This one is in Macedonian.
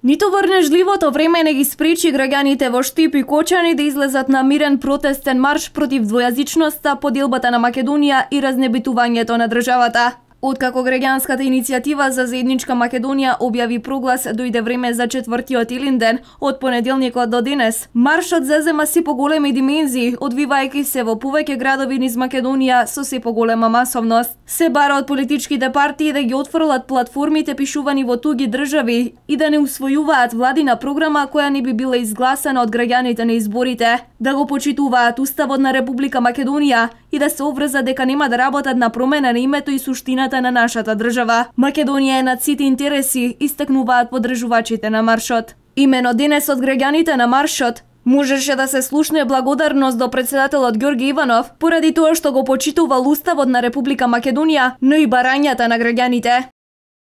Ниту врнежливото време не ги спречи граѓаните во Штип и Кочани да излезат на мирен протестен марш против двојазичноста, поделбата на Македонија и разнебитувањето на државата. Откако граѓанската иницијатива за заедничка Македонија објави проглас, дојде време за четвртиот Илинден од понеделникот до денес. Маршот зезема се поголеми димензии, одвивајќи се во повеќе градови низ Македонија со се поголема масовност. Се бара од политичките партии да ги отфрлат платформите пишувани во туги држави и да не усвојуваат владина програма која не би била изгласана од граѓаните на изборите, да го почитуваат Уставот на Република Македонија и да се обврзат дека нема да работат на промена на името и суштината на нашата држава. Македонија е над сите интереси, истакнуваат поддржувачите на маршот. Имено денес од граѓаните на маршот можеше да се слушне благодарност до претседателот Ѓорги Иванов поради тоа што го почитувал Уставот на Република Македонија, но и барањата на граѓаните.